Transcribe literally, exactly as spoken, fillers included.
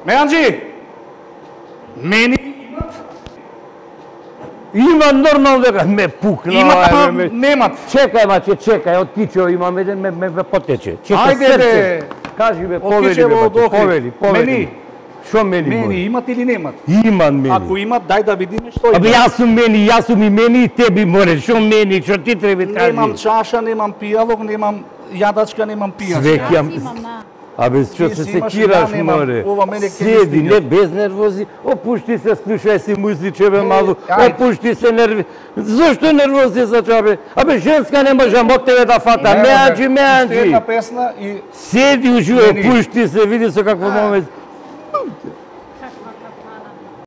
Меанџи! Мени Има нормално дека ме пукна. имат, ама немат. Чекај, маче, чекај, од кичево имам еден, ме, ме, ме потече. Чекај, Ајде, срце. бе. Кажи, бе, Од повели, кичево, бе, од бате, Охрид. повели, повели. Мени. Шо мени, Мени Боре? имат или немат? Имам мени. Ако имат, дај да видиме што има. Абе, јас сум мени, јас сум и мени и теби, море. Шо мени, шо ти треба кажи? Немам чаша, немам пијалок, немам јадачка, немам пијачка. Све ќе Јас имам, на. Абе, што Ти се си имаш, секираш, ја немам. море? Ова мене ќе ми Седи, стига. не без нервози. Опушти се, слушај си музиче, бе, Е, малу. ајде. Опушти се нерви. Зошто нервози за чабе? Абе, женска не може од тебе да фата. Меанџи, Уште меанџи. една песна и Седи уживе, Мени. опушти се, види со какво момент.